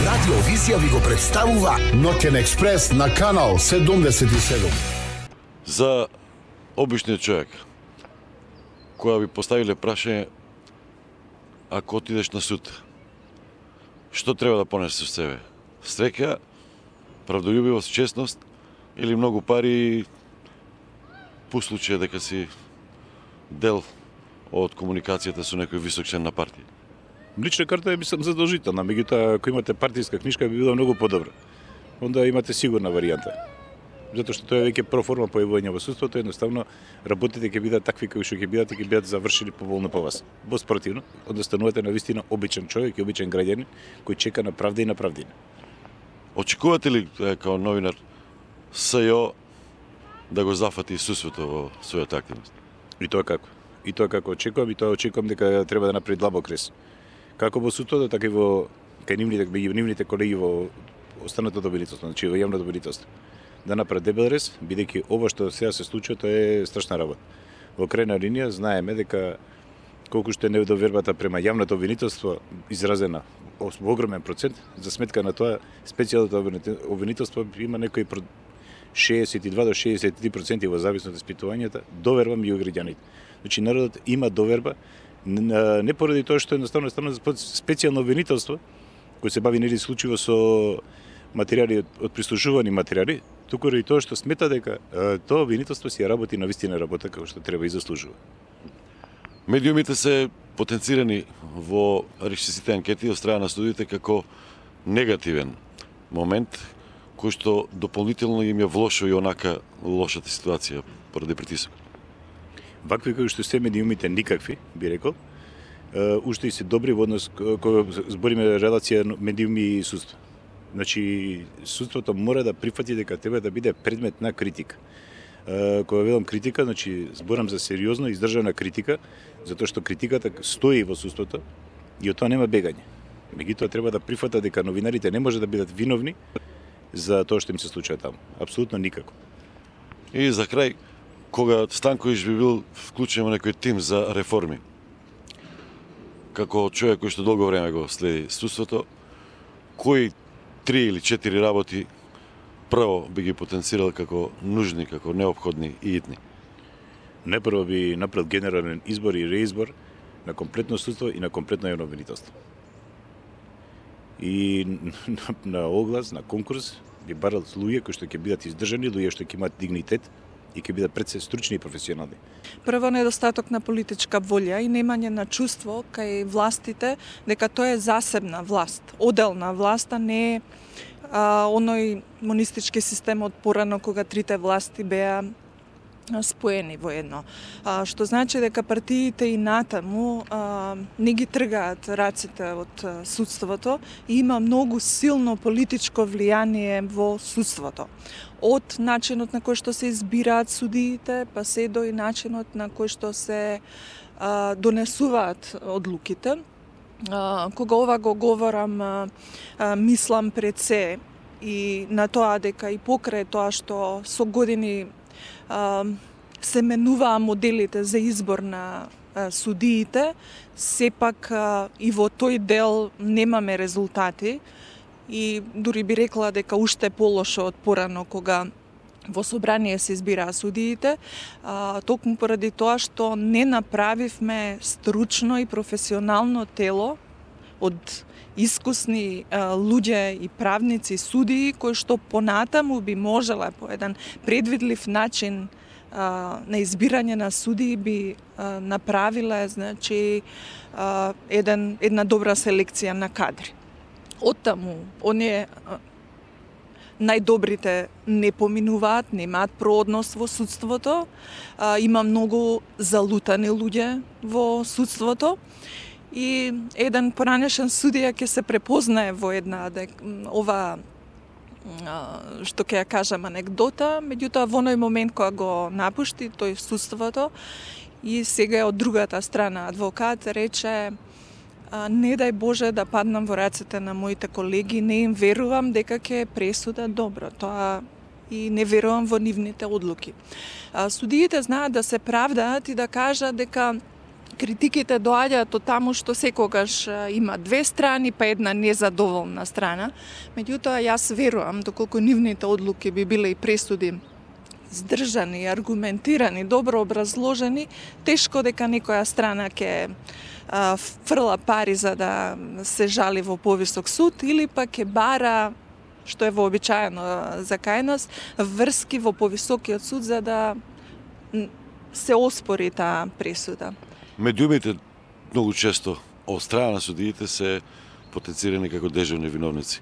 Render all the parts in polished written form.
Радио Визија ви го представува Ноќен експрес на канал 77. За обичниот човек, која ви поставиле прашање, ако отидеш на суд, што треба да понесеш со себе? Среќа, правдолюбивост, честност или многу пари по случај дека си дел од комуникацијата со некој висок член на партија? Лична карта е, мислам, задолжителна, меѓутоа, ако имате партиска книжка, би било многу подобро. Онда имате сигурна варијанта. Затоа што тоа е веќе проформа појавување во судството, едноставно работите ќе бидат такви кои што ќе бидат завршени поволно по вас. Спротивно, онда станувате навистина обичен човек и обичен граѓанин кој чека на правда и на правдина. Очекувате ли као новинар СЈО да го зафати судството во својата активност? И тоа како? И тоа како очекувам дека треба да направи длабок рез. Како во судството, така и во кај нивните колеги во останатото обвинителство, значи во јавното обвинителство. Да направи дебел рез, бидејќи ова што сега се случува, тоа е страшна работа. Во крајна линија знаеме дека колку што е недовербата према јавното обвинителство изразена во огромен процент, за сметка на тоа специјалното обвинителство има некои 62 до 63% во зависност од испитувањата, доверба меѓу граѓаните. Значи народот има доверба, не поради тоа што едноставно специјално обвинителство кој се бави нели случајно со материјали од прислушувани материјали, туку ради тоа што смета дека тоа обвинителство си работи на вистина работа како што треба и заслужува. Медиумите се потенцирани во речисите анкети од страна на студиите како негативен момент кој што дополнително им ја влошува и онака лошата ситуација поради притисок. Вакви кои што се медиумите никакви, би рекол, уште и се добри во однос кога збориме релација медиуми и судство. Значи, судството мора да прифати дека треба да биде предмет на критика. Кога велам критика, значи зборам за сериозно издржана критика, затоа што критиката стои во судството и од тоа нема бегање. Меѓутоа треба да прифата дека новинарите не може да бидат виновни за тоа што им се случува таму. Апсолутно никако. И за крај, кога Станковиќ би бил вклучен во некој тим за реформи, како човек кој што долго време го следи судството, кои 3 или 4 работи прво би ги потенцирал како нужни, како неопходни и итни? Непрво би направил генерален избор и реизбор на комплетно судство и на комплетно јавно обвинителство. И на оглас, на конкурс, би барал луѓе кои што ќе бидат издржани, луѓе што ќе имаат дигнитет и ќе бидат пред се стручни и професионални. Прво, недостаток на политичка волја и немање на чувство кај властите дека тоа е засебна власт, оделна власт, а не оној монистички систем од порано кога трите власти беа споени во едно. Што значи дека партиите и натаму не ги тргаат раците од судството и има многу силно политичко влијание во судството. Од начинот на кој што се избираат судиите, па се до и начинот на кој што се донесуваат одлуките. Кога ова го говорам, мислам пред се и на тоа дека и покрај тоа што со години се менуваа моделите за избор на судиите, сепак и во тој дел немаме резултати и дури би рекла дека уште полошо од порано кога во собрание се избираа судиите, токму поради тоа што не направивме стручно и професионално тело од искусни луѓе и правници, судии, кои што понатаму би можела по еден предвидлив начин на избирање на судии би направиле, значи, една добра селекција на кадри. Оттаму, оние најдобрите не поминуваат, немаат проодност во судството, има многу залутани луѓе во судството, и еден поранешен судија ќе се препознае во една ова што ќе ја кажам анекдота, меѓутоа во оној момент кога го напушти тој судството и сега е од другата страна адвокат рече не дај Боже да паднам во рацете на моите колеги, не им верувам дека ќе пресуда добро, тоа и не верувам во нивните одлуки. Судиите знаат да се правдаат и да кажат дека критиките доаѓаат од таму што секогаш има две страни, па една незадоволна страна. Меѓутоа, јас верувам, доколку нивните одлуки би биле и пресуди здржани, аргументирани, добро образложени, тешко дека некоја страна ќе фрла пари за да се жали во повисок суд или пак ќе бара, што е вообичаено за кај нас, врски во повисокиот суд за да се оспори таа пресуда. Медиумите многу често од страна на судиите се потенцирани како дежурни виновници.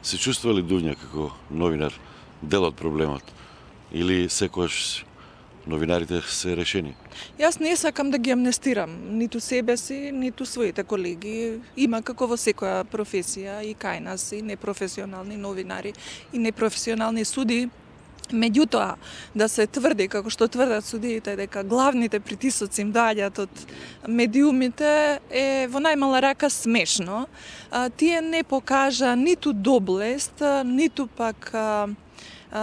Се чувствува ли Дуња како новинар дел од проблемот или секогаш новинарите се решени? Јас не сакам да ги амнестирам ниту себе си, ниту своите колеги. Има како во секоја професија и кај нас и непрофесионални новинари и непрофесионални суди. Меѓутоа, да се тврди, како што тврдат судиите, дека главните притисоци им доаѓаат од медиумите е во најмала рака смешно. Тие не покажа ниту доблест, ниту пак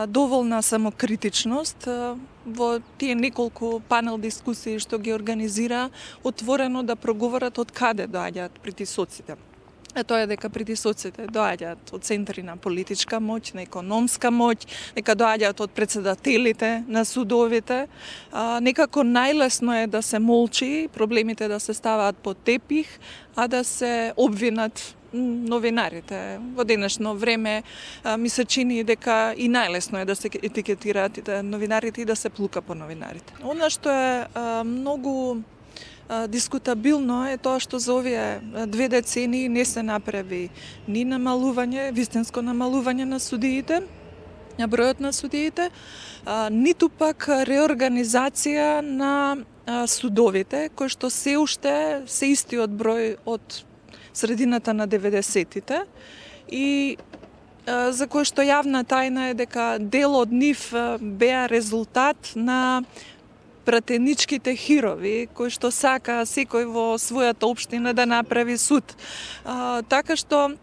доволна самокритичност. Во тие неколку панел дискусии што ги организира, отворено да проговорат од каде доаѓаат притисоците. Тоа е дека притисоците доаѓаат од центри на политичка моќ, на економска моќ, дека доаѓаат од претседателите на судовите. Некако најлесно е да се молчи, проблемите да се ставаат под тепих, а да се обвинат новинарите. Во денешно време ми се чини дека и најлесно е да се етикетираат новинарите и да се плука по новинарите. Она што е многу дискутабилно е тоа што за овие 2 децении не се направи ни намалување, вистинско намалување на судиите, на бројот на судиите, ниту пак реорганизација на судовите, кои што се уште се истиот број од средината на 90-тите и за кој што јавна тајна е дека дел од нив беа резултат на пратеничките хирови, кои што сака секој во својата општина да направи суд. Така што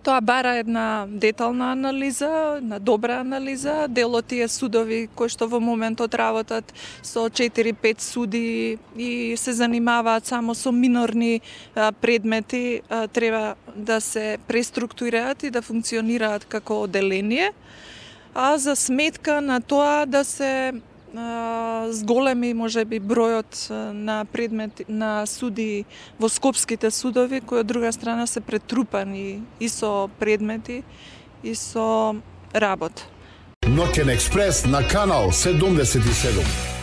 тоа бара една детална анализа, една добра анализа. Дел од тие судови кои што во моментот работат со 4-5 суди и се занимаваат само со минорни предмети, треба да се преструктурираат и да функционираат како оделение, а за сметка на тоа да се зголеми можеби бројот на предмети на суди во скопските судови, кои од друга страна се претрупани и со предмети и со работа. Ноќен експрес на канал 77.